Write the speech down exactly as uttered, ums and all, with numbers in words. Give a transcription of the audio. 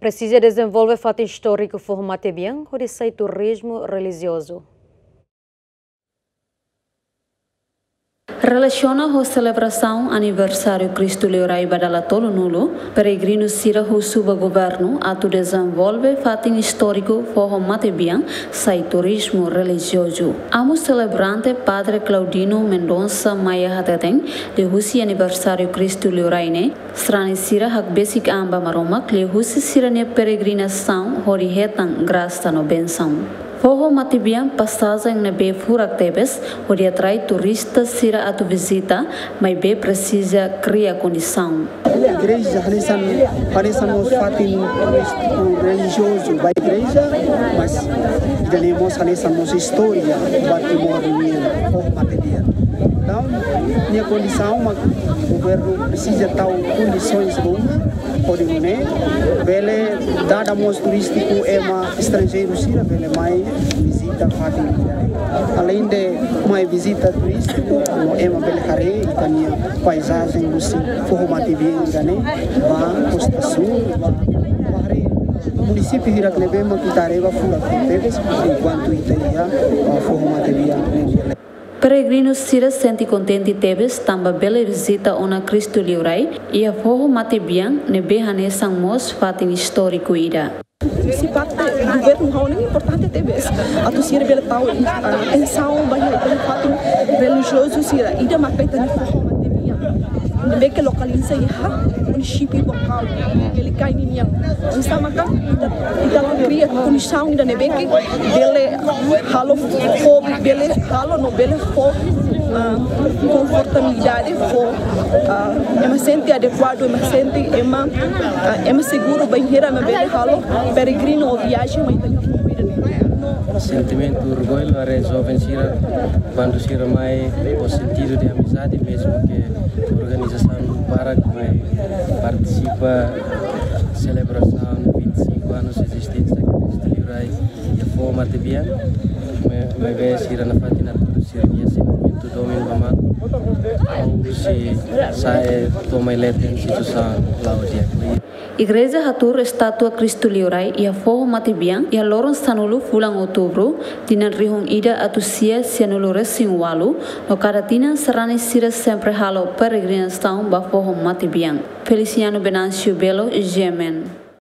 Presiza dezenvolve fatin istóriku Foho Matebian hodi sai turizmu relijiozu. Relasiona ho selebrasaun aniversáriu Kristu Liurai ba dala tolunulu, peregrinu sira husu ba governu atu dezenvolve fatin istóriku Foho Matebian sai turizmu relijiozu. Amu selebrante Padre Claudino Mendonça Maia hateten, liuhusi aniversáriu Kristu Liurai ne'e, sarani sira hakbesik an ba Maromak liuhusi sira-nia peregrinasaun hodi hetan grasa no bensaun. Foho Matebian pasajen ne'ebé furak tebes hodi atrai turista sira atu vizita, maibé presiza kria kondisaun. Igreja hanesan, hanesan mós fatin turístiku relijiozu ba igreja, mas ida-ne'e mós hanesan mós istória ba Timor nian, Foho Matebian. Entaun, nia kondisaun mak governu presiza tau kondisoens boas, hodi nune'e bele dada mós turístiku, ema estranjeiru sira bele mai vizita fatin ida-ne'e. Aleinde mai vizita turístiku, no ema bele haree ita-nia paizajen husi Foho Matebian ida-ne'e, ba Kosta Súl, ba, ba haree munisípiu hirak ne'ebé mak ita haree ba furak tebes, enkuantu ita iha, ah, Foho Matebian ne'e. Peregrinu sira sente kontente tebes tanba bele vizita ona Kristu Liurai iha Foho Matebian ne'ebé hanesan mós fatin istóriku ida. Husi parte governu ha'u hanoin importante tebes atu sira bele tau, ah, atensaun ba iha ita-nia fatin relijiozu sira, ida maka ita-nia Foho Matebian ne'ebé ke lokaliza iha munisípiu Baucau, Quelicai nian. Entaun maka ita, ita la kria kondisaun ida ne'ebé ke bele halo fó, bele halo no bele fó, ah, konfortabilidade, fó, ah, ema sente adekuadu, ema sente ema, ah, ema seguru bainhira ema bele halo peregrinu ou viajen mai ita-nia Foho ida-ne'e. Sentimentu orgullu, haree joven sira, kuandu sira mai ho sentidu de amizade, mezmu ke organizasaun barak mai partisipa selebrasaun vinte e cinco anos ezisténsia Kristu Liurai iha Foho Matebian, mai, maibé sira nafatin atu sira-nia sentimentu domin ba malu, ha'u sei sai to'o mai leten situasaun la'o di'ak liu. Igreja hatuur estátua Kristu Liurai iha Foho Matebian iha loron sanulu fulan Outubru, tinan rihun ida atus sia sianulu resin ualu, no kada tinan sarani sira sempre halo peregrinasaun ba Foho Matebian. Feliciano Venâncio Belo, G M N.